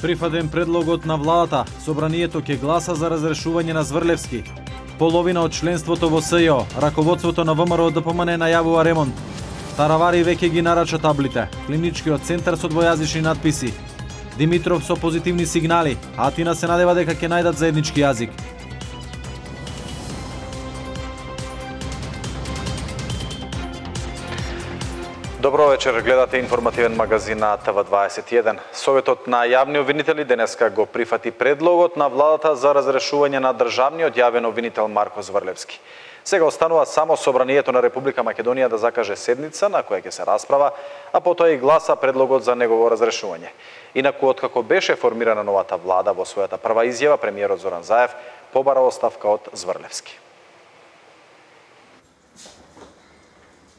Прифатен предлогот на владата, собранието ќе гласа за разрешување на Зврлевски. Половина од членството во СЈО, раководството на ВМРО ДПМН најавува ремонт. Таравари веќе ги нарача таблите, клиничкиот центар со двојазични надписи. Димитров со позитивни сигнали, Атина се надева дека ќе најдат заеднички јазик. Добро вечер, гледате информативен магазин на ТВ21. Советот на јавни обвинители денеска го прифати предлогот на владата за разрешување на државниот јавен обвинител Марко Зврлевски. Сега останува само собранието на Република Македонија да закаже седница на која ќе се расправа, а потоа и гласа предлогот за негово разрешување. Инаку, откако беше формирана новата влада, во својата прва изјава премиерот Зоран Заев побара оставка од Зврлевски.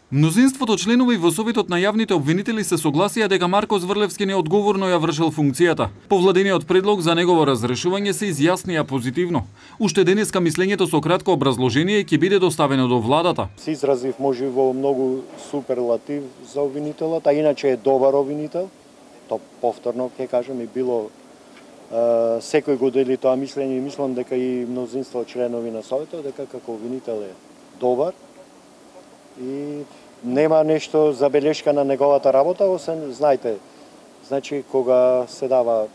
Мнозинството членови во Советот на јавните обвинители се согласија дека Марко Зврлевски неодговорно ја вршел функцијата. По владениот предлог за негово разрешување се изјаснија позитивно. Уште денеска мислењето со кратко образложение ќе биде доставено до владата. Се изразив можево многу суперлатив за обвинителот, а иначе е добар обвинител. То повторно ќе кажам и било секој го дели тоа мислење и мислам дека и мнозинство членови на Советот дека како обвинител е добар. И нема нешто забелешка на неговата работа, освен, знаете, значи кога се дава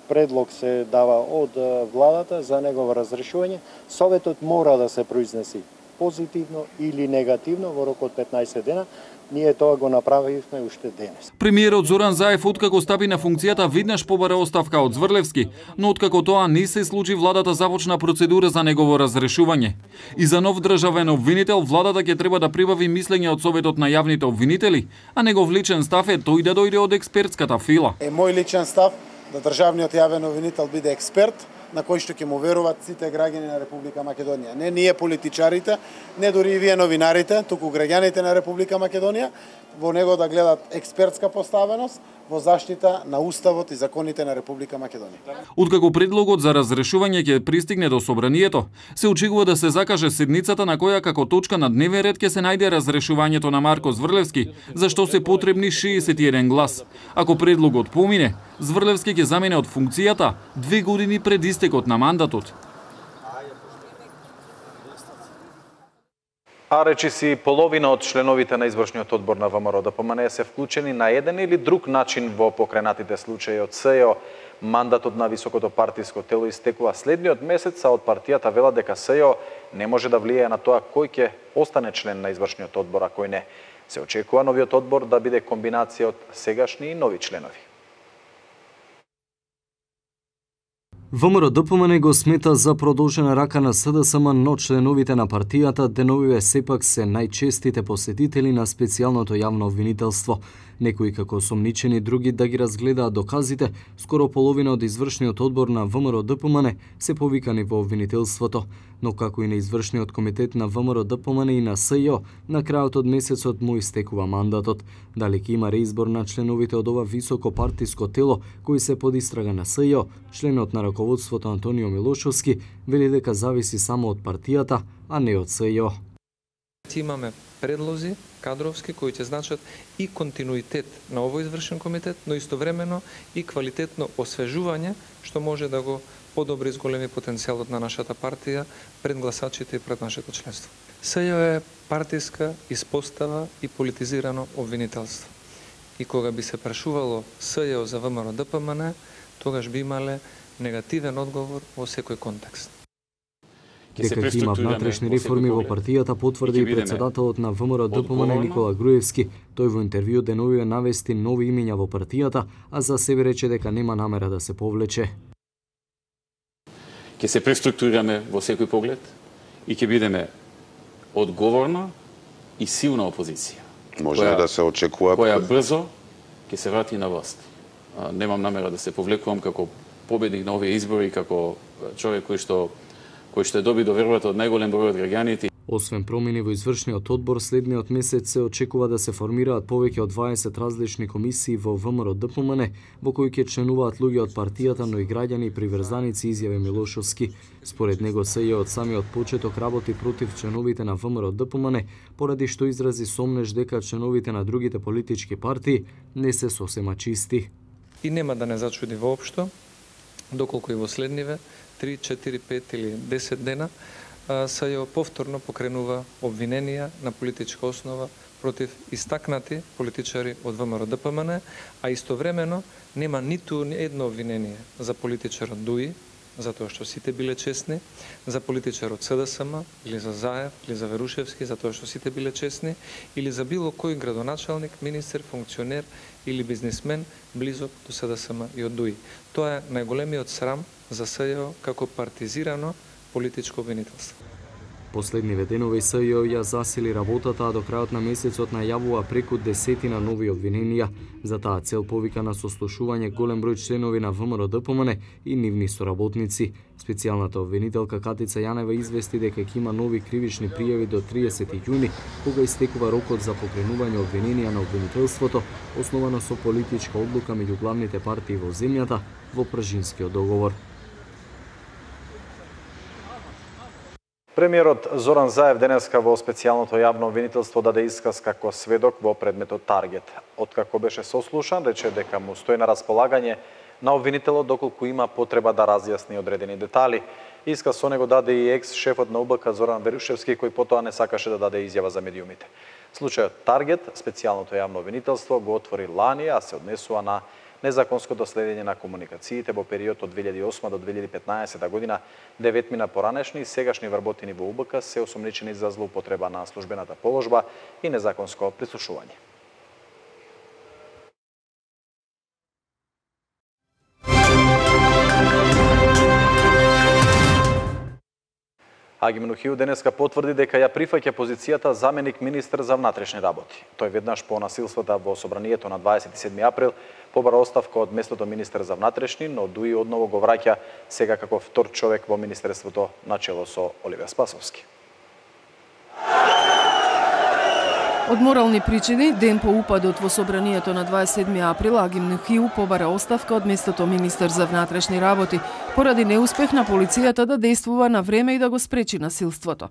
предлог се дава од владата за негово разрешување, Советот мора да се произнеси позитивно или негативно во рок од 15 дена. Ние тоа го направивме уште денес. Премиерот Зоран Заев откако стапи на функцијата веднаш побара оставка од Зврлевски, но откако тоа не се случи, владата започна процедура за негово разрешување. И за нов државен обвинител владата ќе треба да прибави мислење од Советот на јавните обвинители, а негов личен став е тој да дојде од експертската фила. Мој личен став да државниот јавен обвинител биде експерт на кој што ќе му веруваат сите граѓани на Република Македонија. Не ние политичарите, не дури и вие новинарите, туку граѓаните на Република Македонија, во него да гледат експертска поставеност во заштита на Уставот и законите на Република Македонија. Откако предлогот за разрешување ќе пристигне до собранието, се очекува да се закаже седницата на која како точка на дневен ред ќе се најде разрешувањето на Марко Зврлевски, за што се потребни 61 глас. Ако предлогот помине, Зврлевски ќе замене од функцијата 2 години пред истекот на мандатот. А речиси половина од членовите на извршниот одбор на ВМРО ДПМН се вклучени на еден или друг начин во покренатите случаи од СЈО. Мандатот на високото партиско тело истекува следниот месец, а од партијата велат дека СЈО не може да влијае на тоа кој ќе остане член на извршниот одбор, а кој не. Се очекува новиот одбор да биде комбинација од сегашни и нови членови. ВМРО ДПМН го смета за продолжена рака на СДСМ, но членовите на партијата деновиве сепак се најчестите посетители на специјалното јавно обвинителство. Некои како сомничени, други да ги разгледаат доказите. Скоро половина од извршниот одбор на ВМРО ДПМН се повикани во обвинителството, но како и на извршниот комитет на ВМРО ДПМН и на СЈО, на крајот од месецот му истекува мандатот. Дали ќе има реизбор на членовите од ова високо партиско тело кои се под истрага на СЈО, членот на раководството Антонио Милошовски вели дека зависи само од партијата, а не од СЈО. Имаме предлози кадровски кои ќе значат и континуитет на овој извршен комитет, но истовремено и квалитетно освежување што може да го подобри зголеми потенцијалот на нашата партија пред гласачите и пред нашето членство. СЈО е партиска испостава и политизирано обвинителство. И кога би се прашувало СЈО за ВМРО ДПМН, тогаш би имале негативен одговор во секој контекст. Дека ќе има внатрешни реформи во партијата потврди и председателот на ВМРО ДПМН Никола Груевски. Тој во интервју деновиве навести нови имиња во партијата, а за себе рече дека нема намера да се повлече. Ќе се преструктурираме во секој поглед и ќе бидеме одговорна и силна опозиција. Може да се очекува која брзо ќе се врати на власт. Немам намера да се повлекувам како победник на овие избори, како човек кој што доби довербата од најголем број од граѓаните. Освен промени во извршниот одбор, следниот месец се очекува да се формираат повеќе од 20 различни комисии во ВМРО-ДПМН, во кои ќе членуваат луѓе од партијата, но и граѓани и приврзаници, изјави Милошовски. Според него СЈ од самиот почеток работи против членовите на ВМРО-ДПМН, поради што изрази сомнеж дека членовите на другите политички партии не се сосема чисти. И нема да не зачуди воопшто, доколку и во следниве 3, 4, 5 или 10 дена СЈ повторно покренува обвиненија на политичка основа против истакнати политичари од ВМРО-ДПМН, а истовремено нема ниту едно обвинение за политичарот Дуи, затоа што сите биле честни, за политичарот СДСМ, или за Заев, или за Верушевски, затоа што сите биле честни, или за било кој градоначалник, министер, функционер или бизнисмен близок до СДСМ и од Дуи. Тоа е најголемиот срам за СЈ како партизирано политичко обвинителство. Последниве денови СЈ ја засили работата, а до крајот на месецот најавува преку 10 нови обвиненија. За таа цел повика на сослушување голем број членови на ВМРО-ДПМН и нивни соработници. Специјалната обвинителка Катица Јанева извести дека ќе има нови кривични пријави до 30 јуни, кога истекува рокот за покренување обвиненија на обвинителството, основано со политичка одлука меѓу главните партии во земјата во Пржинскиот договор. Премиерот Зоран Заев денеска во специјалното јавно обвинителство даде исказ како сведок во предметот Таргет. Откако беше сослушан, рече дека му стои на располагање на обвинителот доколку има потреба да разјасни одредени детали. Исказ со него даде и екс-шефот на УБК Зоран Верушевски, кој потоа не сакаше да даде изјава за медиумите. Случајот Таргет, специјалното јавно обвинителство го отвори лани, а се однесува на незаконското следење на комуникациите во период од 2008 до 2015 година. 9 поранешни и сегашни вработени во УБК се осомничени за злоупотреба на службената положба и незаконско прислушување. Аги Мнухиу денеска потврди дека ја прифаќа позицијата заменик министер за внатрешни работи. Тој веднаш по насилствата во собранието на 27 април побара оставка од местото министер за внатрешни, но Дуи одново го враќа сега како втор човек во министерството начело со Оливер Спасовски. Од морални причини, ден по упадот во собранието на 27 април, Аги Мнухиу побара оставка од местото министер за внатрешни работи, поради неуспех на полицијата да действува на време и да го спречи насилството.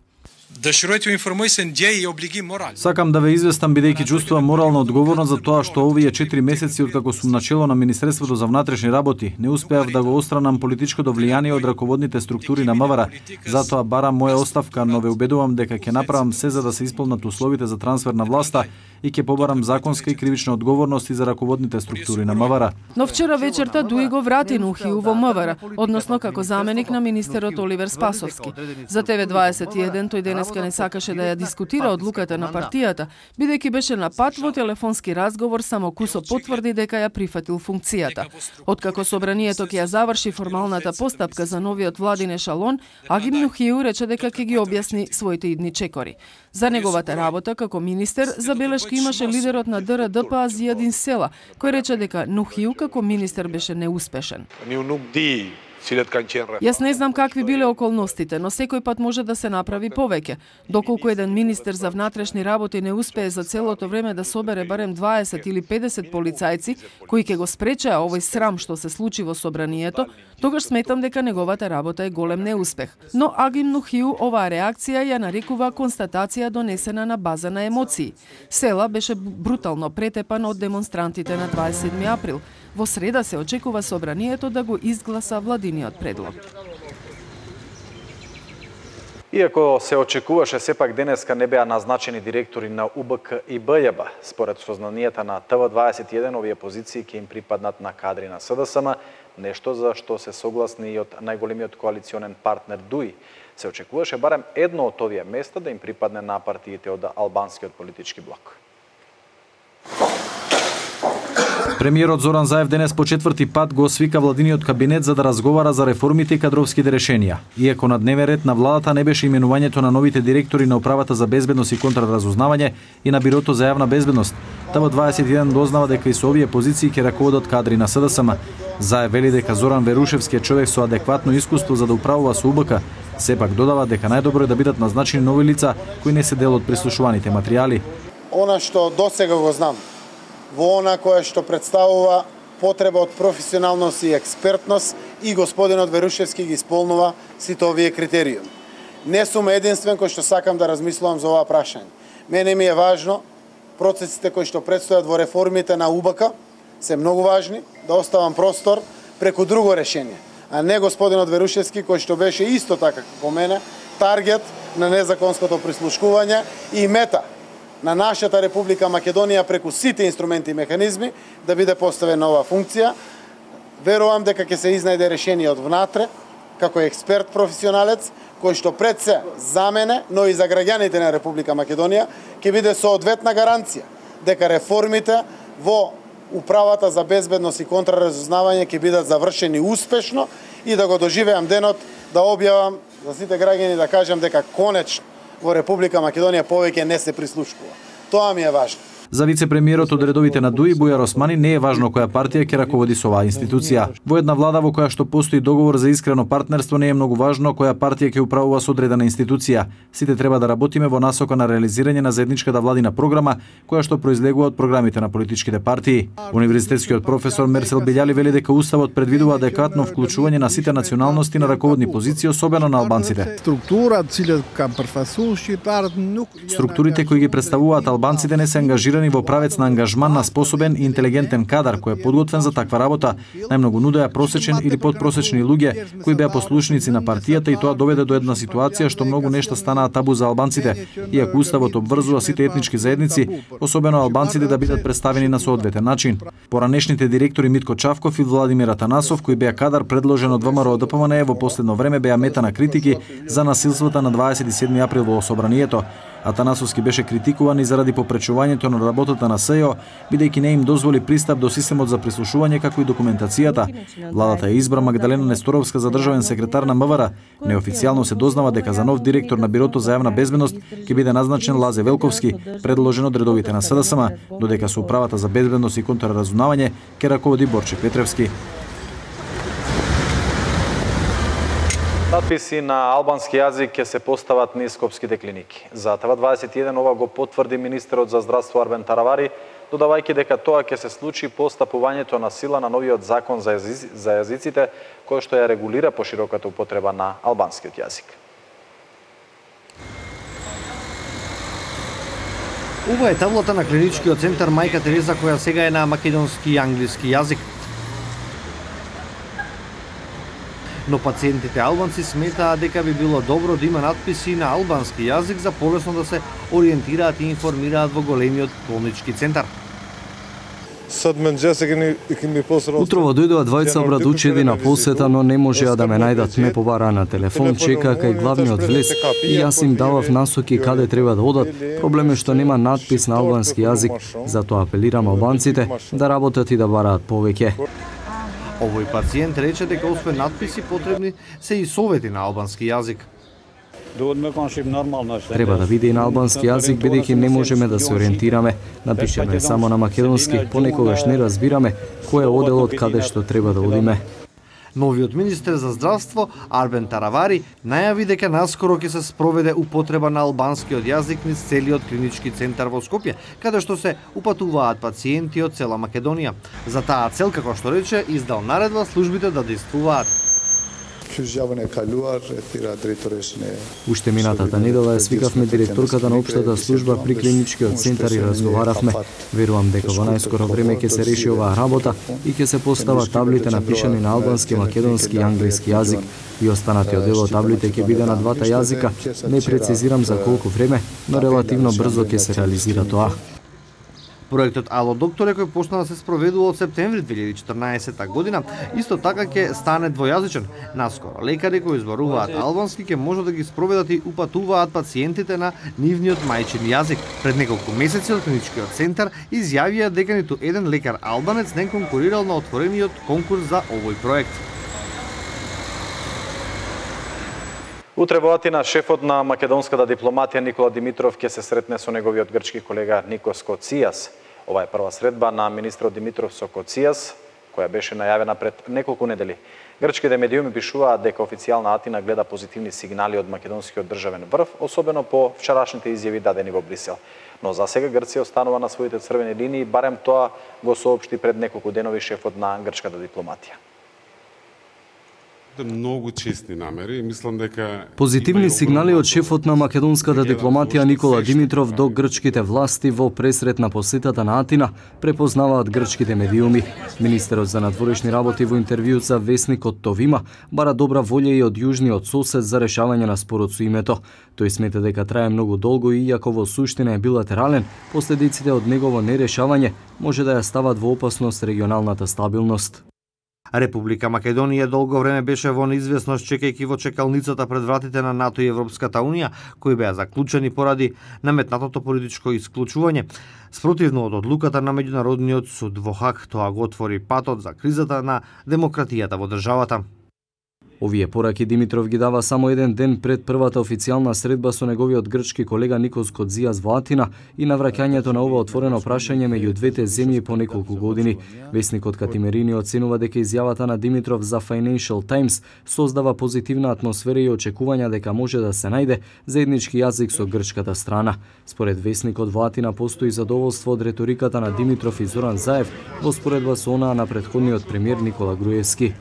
Сакам да ве известам бидејќи чувствувам морална одговорност за тоа што овие 4 месеци откако сум начело на Министерството за внатрешни работи не успеав да го отстранам политичкото влијание од раководните структури на МВР. Затоа барам моја оставка, но ве убедувам дека ќе направам се за да се исполнат условите за трансфер на власта и ќе побарам законска и кривична одговорност и за раководните структури на МВР. Но вчера вечерта Дуи го врати Мнухиу во МВР, односно како заменик на министерот Оливер Спасовски. За ТВ21 тој денеска не сакаше да ја дискутира одлуката на партијата, бидејќи беше на пат во телефонски разговор, само кусо потврди дека ја прифатил функцијата. Откако собранието ќе ја заврши формалната постапка за новиот владин ешалон, Аги Мнухиу рече дека ќе ги објасни своите идни чекори. За неговата работа како министер забелешки имаше лидерот на ДРДПА Зијадин Села, кој рече дека Мнухиу како министер беше неуспешен. Јас не знам какви биле околностите, но секој пат може да се направи повеќе. Доколку еден министер за внатрешни работи не успее за целото време да собере барем 20 или 50 полицајци кои ќе го спречеа овој срам што се случи во собранието, тогаш сметам дека неговата работа е голем неуспех. Но Аги Мнухиу оваа реакција ја нарекува констатација донесена на база на емоции. Села беше брутално претепан од демонстрантите на 27 април. Во среда се очекува собранието да го изгласа владиниот предлог. Иако се очекуваше, сепак денеска не беа назначени директори на УБК и БЈБ. Според сознанијата на ТВ21, овие позиции ќе им припаднат на кадри на СДСМ, нешто за што се согласни и од најголемиот коалиционен партнер Дуи. Се очекуваше барем едно од овие места да им припадне на партиите од албанскиот политички блок. Премиерот Зоран Заев денес по четврти пат го свика владиниот кабинет за да разговара за реформите и кадровските решенија. Иако на дневен ред на владата не беше именувањето на новите директори на Управата за безбедност и контраразузнавање и на Бирото за јавна безбедност, ТВ21 дознава дека и со овие позиции ќе раководат кадри на СДСМ. Заев вели дека Зоран Верушевски е човек со адекватно искуство за да управува со УБК. Сепак додава дека најдобро е да бидат назначени нови лица кои не се дел од прислушуваните материјали. Она што досега го знам, во она кое што представува потреба од професионалност и експертност и господинот Верушевски ги исполнува сите овие критериуми. Не сум единствен кој што сакам да размислувам за ова прашање. Мене ми е важно процесите кои што предстојат во реформите на УБК се многу важни, да оставам простор преку друго решение, а не господинот Верушевски кој што беше исто така како мене таргет на незаконското прислушкување и мета на нашата Република Македонија преку сите инструменти и механизми да биде поставен на оваа функција. Верувам дека ќе се изнајде решение од внатре, како експерт професионалец, кој што пред се за мене, но и за граѓаните на Република Македонија, ќе биде соодветна гаранција дека реформите во Управата за безбедност и контраразузнавање ќе бидат завршени успешно и да го доживеам денот да објавам за сите граѓани да кажам дека конечно во Република Македонија повеќе не се прислушкува. Тоа ми е важно. За вице-премиерот од редовите на ДУИ Бујар Османи не е важно која партија ќе раководи со оваа институција. Во една влада во која што постои договор за искрено партнерство не е многу важно која партија ќе управува со одредена институција. Сите треба да работиме во насока на реализирање на заедничката владина програма која што произлегува од програмите на политичките партии. Универзитетскиот професор Мерсел Белјали вели дека уставот предвидува адекватно вклучување на сите националности на раководни позиции, особено на албанците. Структурите кои ги представуваат албанците не се ангажирани во правец на ангажман на способен и интелигентен кадар кој е подготвен за таква работа. Најмногу нудеа просечен или подпросечни луѓе кои беа послушници на партијата и тоа доведе до една ситуација што многу нешта станаа табу за албанците, иако уставот обврзува сите етнички заедници, особено албанците да бидат представени на соодветен начин. Поранешните директори Митко Чавков и Владимир Атанасов, кои беа кадар предложен од ВМРО ДПМН, во последно време беа мета на критики за насилствата на 27 април во собранието. Атанасовски беше критикуван и заради попречувањето на работата на СЈО, бидејќи не им дозволи пристап до системот за прислушување како и документацијата. Владата ја избра Магдалена Несторовска за државен секретар на МВР. Неофицијално се дознава дека за нов директор на Бирото за јавна безбедност ќе биде назначен Лазе Велковски, предложен од редовите на СДСМ, додека со Управата за безбедност и контраразузнавање ќе раководи Борче Петревски. Надписи на албански јазик ќе се постават низ скопските клиники. За ТВ21 ова го потврди министерот за здравство Арбен Таравари, додавајќи дека тоа ќе се случи по стапувањето на сила на новиот закон за јазиците, кој што ја регулира пошироката употреба на албанскиот јазик. Ова е таблата на клиничкиот центар Мајка Тереза, која сега е на македонски и англиски јазик. Но пациентите албанци сметаат дека би било добро да има надписи на албански јазик за полесно да се ориентираат и информираат во големиот болнички центар. Утрово дојдоа двајца обрадучеди на посета, но не можеа да ме најдат. Ме побараа на телефон, чека кај главниот влез и јас им давав насоки каде треба да одат. Проблем е што нема надпис на албански јазик, затоа апелирам албанците да работат и да бараат повеќе. Овој пациент рече дека освен надписи потребни се и совети на албански јазик. Треба да биде и на албански јазик, бидејќи не можеме да се ориентираме. Напишеме само на македонски, понекогаш не разбираме кој е оделот каде што треба да одиме. Новиот министер за здравство Арбен Таравари најави дека наскоро ќе се спроведе употреба на албанскиот јазик низ целиот клинички центар во Скопје, каде што се упатуваат пациенти од цела Македонија. За таа цел, како што рече, издал наредба службите да действуваат. Уште минатата недела ја свикавме директорката на општата служба при клиничкиот центар и разговаравме. Верувам дека во најскоро време ќе се реши оваа работа и ќе се постават таблите напишани на албански, македонски и англиски јазик и останатиот дел од таблите ќе биде на двата јазика. Не прецизирам за колку време, но релативно брзо ќе се реализира тоа. Проектот Ало докторе, кој почна да се спроведува од септември 2014 година, исто така ќе стане двојазичен. Наскоро лекари кои зборуваат албански ќе можат да ги спроведат и упатуваат пациентите на нивниот мајчин јазик. Пред неколку месеци од клиничкиот центар изјавија дека ниту еден лекар албанец не конкурирал на отворениот конкурс за овој проект. Утре во Атина, шефот на македонската дипломатија Никола Димитров ќе се сретне со неговиот грчки колега Никос Коцијас. Ова е прва средба на министрот Димитров со Коцијас, која беше најавена пред неколку недели. Грчките медиуми пишуваат дека официјална Атина гледа позитивни сигнали од македонскиот државен врв, особено по вчерашните изјави дадени во Брисел. Но за сега Грција останува на своите црвени линии, барем тоа го соопшти пред неколку денови шефот на грчката дипломатија. Многу честни намери, мислам дека позитивни сигнали од шефот на македонската дипломатија Никола Димитров до грчките власти во пресрет на посетата на Атина, препознаваат грчките медиуми. Министерот за надворешни работи во интервју за весникот Товима бара добра волја и од јужниот сосед за решавање на спорот со името. Тој смета дека трае многу долго и иако во суштина е билатерален, последиците од негово нерешавање може да ја стават во опасност регионалната стабилност. Република Македонија долго време беше во неизвестност чекајќи во чекалницата пред вратите на НАТО и Европската Унија, кои беа заклучени поради наметнатото политичко исклучување. Спротивно од одлуката на меѓународниот суд во Хаг, тоа го отвори патот за кризата на демократијата во државата. Овие пораки Димитров ги дава само еден ден пред првата официјална средба со неговиот грчки колега Никос Коцијас во Атина и навраќањето на ова отворено прашање меѓу двете земји по неколку години. Весникот Катимерини оценува дека изјавата на Димитров за Financial Times создава позитивна атмосфера и очекувања дека може да се најде заеднички јазик со грчката страна. Според весникот во Атина постои задоволство од реториката на Димитров и Зоран Заев во споредба со онаа на претходниот премиер Никола Груевски.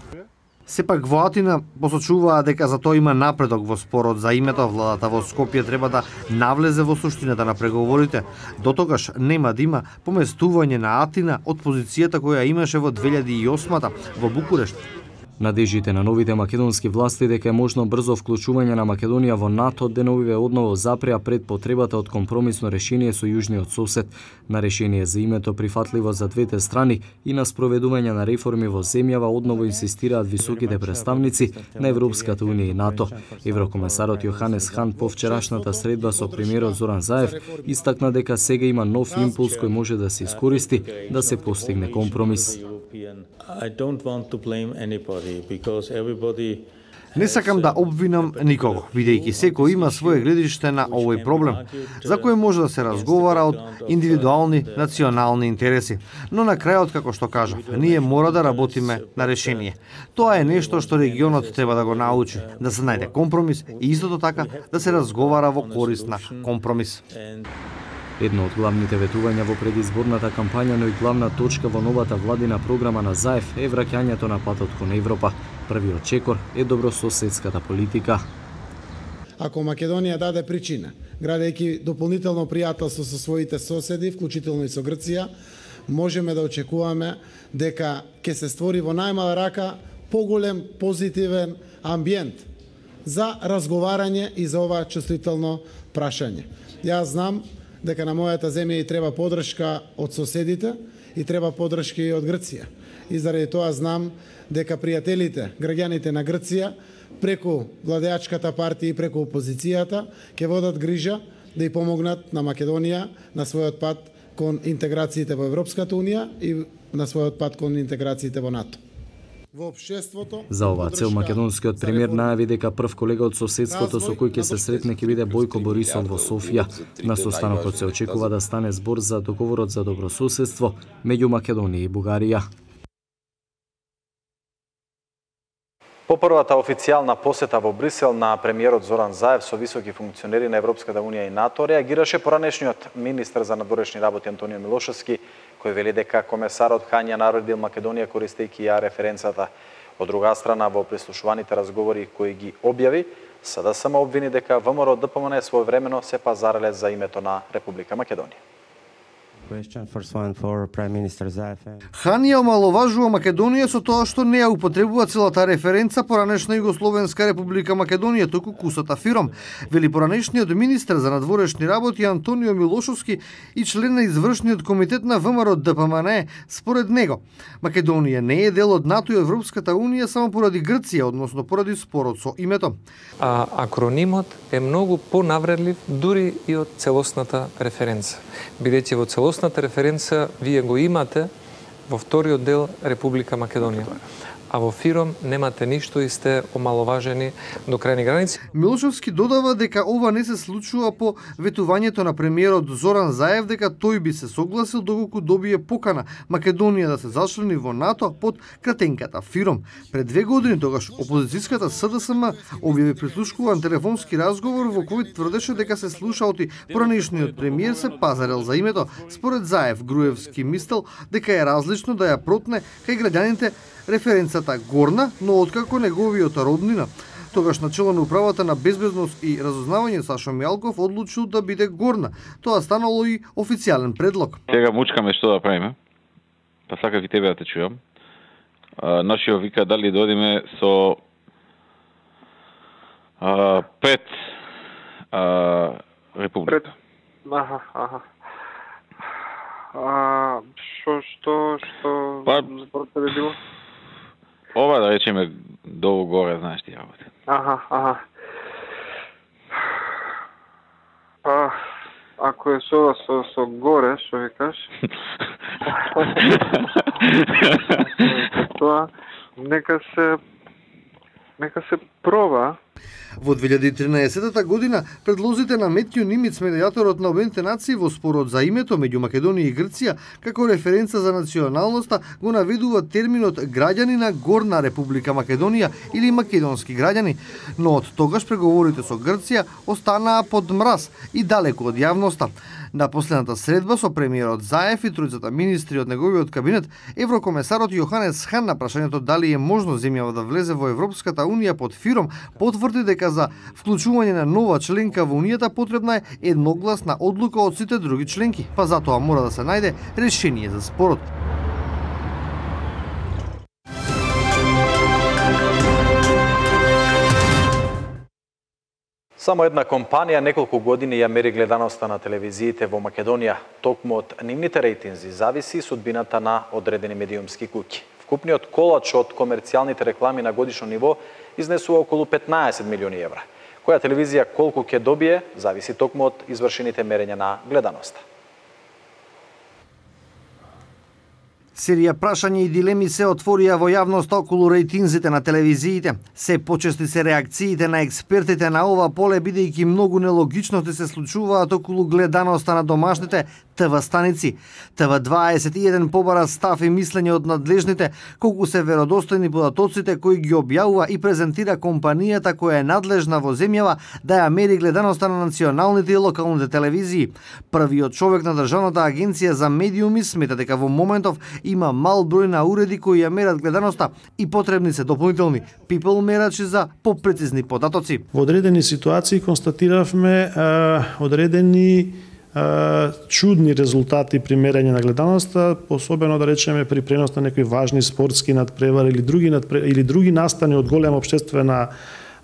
Сепак во Атина посочуваа дека за тоа има напредок во спорот за името. Владата во Скопје треба да навлезе во суштината на преговорите. Дотогаш нема да има поместување на Атина од позицијата која имаше во 2008 во Букурешт. Надежите на новите македонски власти дека е можно брзо вклучување на Македонија во НАТО деновиве одново запреа пред потребата од компромисно решение со јужниот сосед, на решение за името прифатливо за двете страни и на спроведување на реформи во земјава одново инсистираат високите представници на Европската Унија и НАТО. Еврокомесарот Јоханес Хан по вчерашната средба со премиерот Зоран Заев истакна дека сега има нов импулс кој може да се искористи да се постигне компромис. Не сакам да обвинам никого, бидејќи секој има свое гледиште на овој проблем, за кој може да се разговара од индивидуални национални интереси. Но на крајот, како што кажав, ние мора да работиме на решение. Тоа е нешто што регионот треба да го научи, да се најде компромис и истото така да се разговара во корист на компромис. Едно од главните ветувања во предизборната кампања, но и главна точка во новата владина програма на Заев е враќањето на патот кон Европа. Првиот чекор е добрососедската политика. Ако Македонија даде причина, градејќи дополнително пријателство со своите соседи, вклучително и со Грција, можеме да очекуваме дека ќе се створи во најмала рака поголем позитивен амбиент за разговарање и за ова чувствително прашање. Јас знам дека на мојата земја и треба поддршка од соседите и треба поддршка и од Грција. И заради тоа знам дека пријателите, граѓаните на Грција, преку владеачката партија и преку опозицијата, ќе водат грижа да и помогнат на Македонија на својот пат кон интеграциите во Европската Унија и на својот пат кон интеграциите во НАТО. За оваа цел македонскиот премиер најави дека прв колега од соседството со кој ќе се сретне ќе биде Бојко Борисов во Софија. На состанокот се очекува да стане збор за договорот за добрососедство меѓу Македонија и Бугарија. По првата официјална посета во Брисел на премиерот Зоран Заев со високи функционери на Европската Унија и НАТО реагираше поранешниот министер за надворешни работи Антонио Милошевски, кој вели дека комесарот Хан ја наредил Македонија користејќи ја референцата. Од друга страна, во прислушуваните разговори кои ги објави, СДСМ обвини дека ВМРО ДПМН своевремено се пазареле за името на Република Македонија. Хан ја омаловажува Македонија со тоа што не ја употребува целата референца поранешна Југословенска република Македонија, туку кусата Фиром. Вели поранешниот министер за надворешни работи Антонио Милошовски и член на извршниот комитет на ВМРО ДПМН. Според него, Македонија не е дел од НАТО и Европската унија само поради Грција, односно поради спорот со името. Акронимот е многу понавредлив дури и од целосната референца. Бидејќи во целосната референца вие го имате во вториот дел Република Македонија. А во Фиром немате ништо и сте омаловажени до крајни граници. Милошовски додава дека ова не се случува по ветувањето на премиерот Зоран Заев дека тој би се согласил доколку добие покана Македонија да се зачлени во НАТО под кратенката Фиром. Пред 2 години тогаш опозицијската СДСМ објави прислушкуван телефонски разговор во кој тврдеше дека се слушалти поранешниот премиер се пазарел за името. Според Заев, Груевски мислел дека е различно да ја протне кај граѓаните референцата горна, но откако неговиот роднина, тогаш начело на управата на безбедност и разузнавање Сашо Мјалков одлучил да биде горна. Тоа станало и официјален предлог. Сега мучкаме што да правиме. Па сакав и тебе да те чујам. Нашиот вика дали додиме со 5 република. Што според тебе било? Ова да речеме долу горе, знаеш ти работи. Ако е со горе, што викаш? Тоа нека се проба. Во 2013 година предлозите на Метју Нимиц, медијаторот на Обединетите нации во спорот за името меѓу Македонија и Грција, како референца за националноста го наведува терминот граѓани на Горна Република Македонија или македонски граѓани, но од тогаш преговорите со Грција останаа под мраз и далеку од јавноста. На последната средба со премиерот Заев и тројцата министри од неговиот кабинет, еврокомесарот Јоханес Хан на прашањето дали е можно земјава да влезе во Европската унија под Фиром, потврди дека за вклучување на нова членка во унијата потребна е едногласна одлука од сите други членки, па затоа мора да се најде решение за спорот. Само една компанија неколку години ја мери гледаноста на телевизиите во Македонија. Токму од нивните рейтинзи зависи судбината на одредени медиумски куќи. Вкупниот колач од комерцијалните реклами на годишно ниво изнесува околу 15 милиони евра. Која телевизија колку ќе добие, зависи токму од извршените мерења на гледаноста. Серија прашања и дилеми се отворија во јавноста околу рейтинзите на телевизиите. Се почести се реакциите на експертите на ова поле, бидејќи многу нелогичности се случуваат околу гледаноста на домашните ТВ станици. ТВ21 побара став и мислење од надлежните, колку се веродостојни податоците кои ги објавува и презентира компанијата која е надлежна во земјава да ја мери гледаноста на националните и локалните телевизии. Првиот човек на Државната агенција за медиуми смета дека во моментов има мал број на уреди кои ја мерат гледаноста и потребни се дополнителни people мерачи за попрецизни податоци. Во одредени ситуации констатиравме одредени чудни резултати при мерење на гледаноста, особено да речеме при пренос на некои важни спортски надпревари или други настани од голема општествена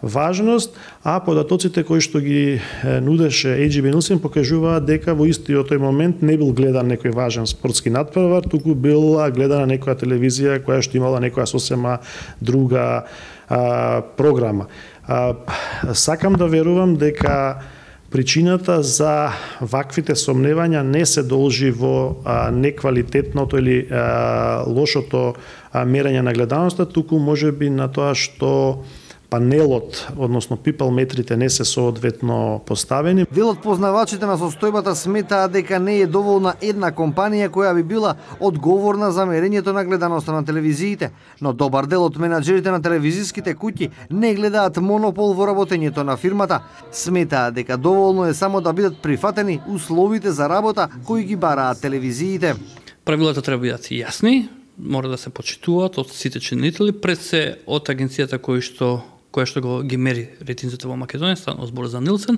важност, а податоците кои што ги нудеше AGB Nielsen покажуваат дека во истиот тој момент не бил гледан некој важен спортски надпревар, туку била гледана некоја телевизија која што имала некоја сосема друга програма. Сакам да верувам дека причината за ваквите сомневања не се должи во неквалитетното или лошото мерење на гледаноста, туку можеби на тоа што панелот, односно people метрите не се соодветно поставени. Дел од познавачите на состојбата сметаа дека не е доволна една компанија која би била одговорна за мерењето на гледаноста на телевизиите, но добар дел од менаџерите на телевизиските куќи не гледаат монопол во работењето на фирмата. Сметаа дека доволно е само да бидат прифатени условите за работа кои ги бараат телевизиите. Правилата треба да бидат јасни, мора да се почитуваат од сите чинители, пред се од агенцијата кои што која што ги мери рейтинзите во Македонија, станува збор за Нилсен,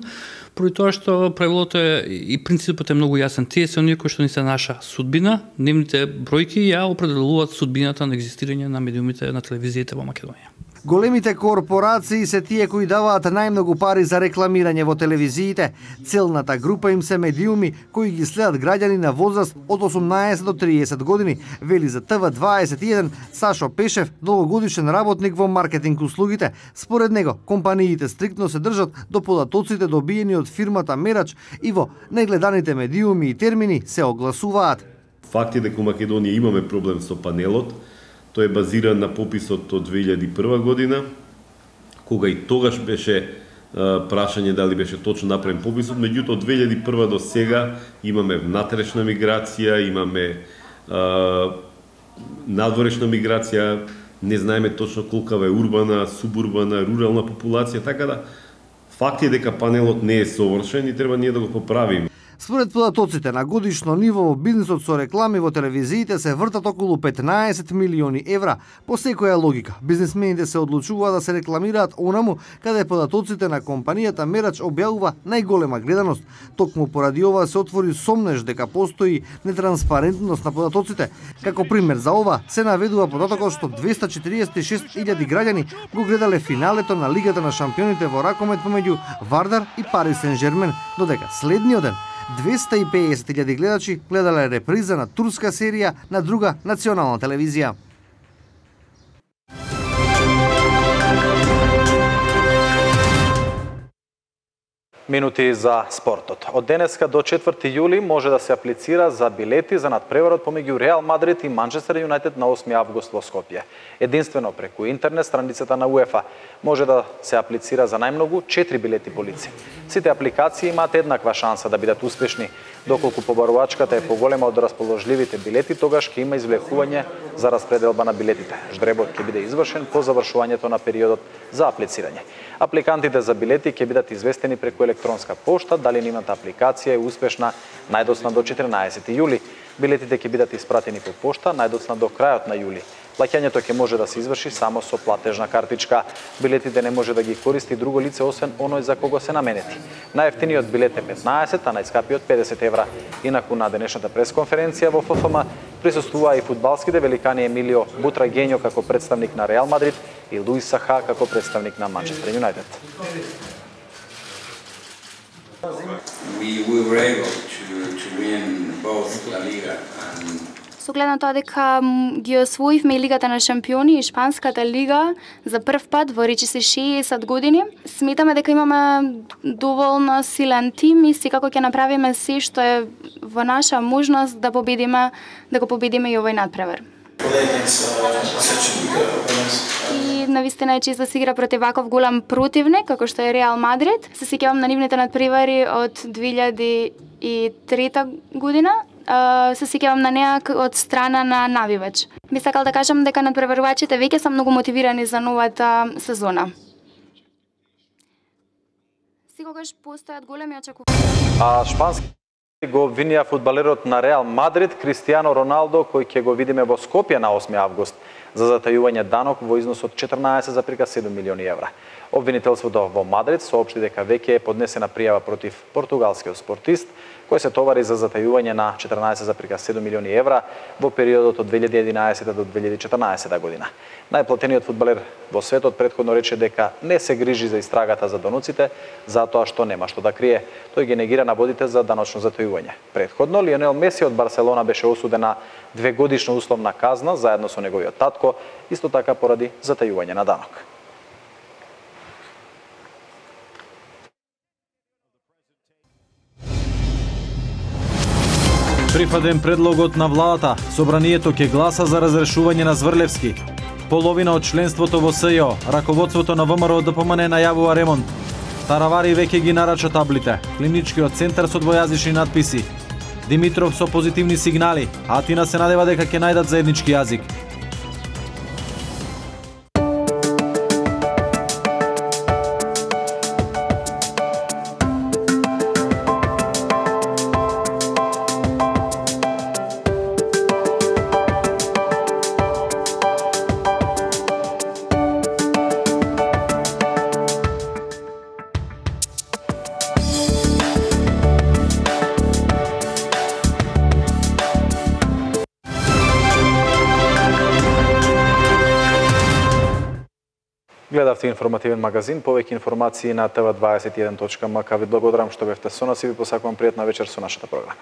поради тоа што правилото и принципот е многу јасен. Тие се оние кои што ни се наша судбина, нивните бројки ја определуваат судбината на екзистирање на медиумите на телевизиите во Македонија. Големите корпорации се тие кои даваат најмногу пари за рекламирање во телевизиите. Целната група им се медиуми кои ги следат граѓани на возраст од 18 до 30 години, вели за ТВ21 Сашо Пешев, долгогодишен работник во маркетинг услугите. Според него, компаниите стриктно се држат до податоците добиени од фирмата Мерач и во најгледаните медиуми и термини се огласуваат. Факт е дека во Македонија имаме проблем со панелот. Тој е базиран на пописот од 2001 година, кога и тогаш беше прашање дали беше точно направен пописот, меѓутоа од 2001 до сега имаме внатрешна миграција, имаме надворешна миграција, не знаеме точно колкава е урбана, субурбана, рурална популација, така да факт е дека панелот не е совршен и треба ние да го поправиме. Според податоците на годишно ниво во бизнисот со реклами во телевизиите се вртат околу 15 милиони евра. По секоја логика, бизнисмените се одлучуваат да се рекламираат онаму каде податоците на компанијата Мерач објавува најголема гледаност. Токму поради ова се отвори сомнеж дека постои нетранспарентност на податоците. Како пример за ова се наведува податокот што 246.000 граѓани го гледале финалето на Лигата на шампионите во ракомет помеѓу Вардар и Пари Сен-Жермен, додека следниот ден 250.000 гледачи гледале реприза на турска серија на друга национална телевизија. Минути за спортот. Од денеска до 4 јули може да се аплицира за билети за надпреварот помеѓу Реал Мадрид и Манчестер Юнайтед на 8 август во Скопје. Единствено преку интернет страницата на УЕФА може да се аплицира за најмногу 4 билети по лице. Сите апликации имаат еднаква шанса да бидат успешни. Доколку побарувачката е поголема од расположливите билети, тогаш ќе има извлекување за распределба на билетите. Ждребот ќе биде извршен по завршувањето на периодот за аплицирање. Апликантите за билети ќе бидат известени преку електронска пошта дали нивната апликација е успешна најдоцна до 14 јули. Билетите ќе бидат испратени по пошта најдоцна до крајот на јули. Плаќањето ќе може да се изврши само со платежна картичка. Билетите не може да ги користи друго лице освен оној за кого се наменети. Најефтиниот билет е 15, а најскапиот 50 евра. Инаку на денешната пресконференција во ФФМ присуствуваа и фудбалските великани Емилио Бутрагењо како представник на Реал Мадрид и Луис Саха како представник на Манчестер Юнайтед. We were able to win both La Liga and Со глед на тоа дека ги освоивме и Лигата на шампиони и Шпанската лига за прв пат во речиси 60 години. Сметаме дека имаме доволно силен тим и секако ќе направиме се што е во наша можност да го победиме и овој надпревар. И навистина е чест да се игра против ваков голем противник како што е Реал Мадрид. Се сеќавам на нивните надпревари од 2003 година. Се сеќавам на неа од страна на навивач. Би сакал да кажам дека надпреварувачите веќе се многу мотивирани за новата сезона. Секогаш постојат големи очекувања. Шпански го обвинија фудбалерот на Реал Мадрид Кристијано Роналдо, кој ќе го видиме во Скопје на 8 август за затајување данок во износ од 14,7 милиони евра. Обвинителството во Мадрид соопшти дека веќе е поднесена пријава против португалскиот спортист, кој се товари за затајување на 14,7 милиони евра во периодот од 2011 до 2014 година. Најплатениот фудбалер во светот претходно рече дека не се грижи за истрагата за доноците, затоа што нема што да крие. Тој ги негира наводите за даночно затајување. Претходно, Лионел Меси од Барселона беше осуден на 2-годишна условна казна заедно со неговиот татко, исто така поради затајување на данок. Прифатен предлогот на владата, собранието ќе гласа за разрешување на Зврлевски. Половина од членството во СЈО, раководството на ВМРО ДПМН најавува ремонт. Таравари веќе ги нарача таблите, клиничкиот центар со двојазични надписи. Димитров со позитивни сигнали, Атина се надева дека ќе најдат заеднички јазик. Гледавте информативен магазин, повеќе информации на tv21.mk. Ви благодарам што бевте со нас и ви посакувам пријатна вечер со нашата програма.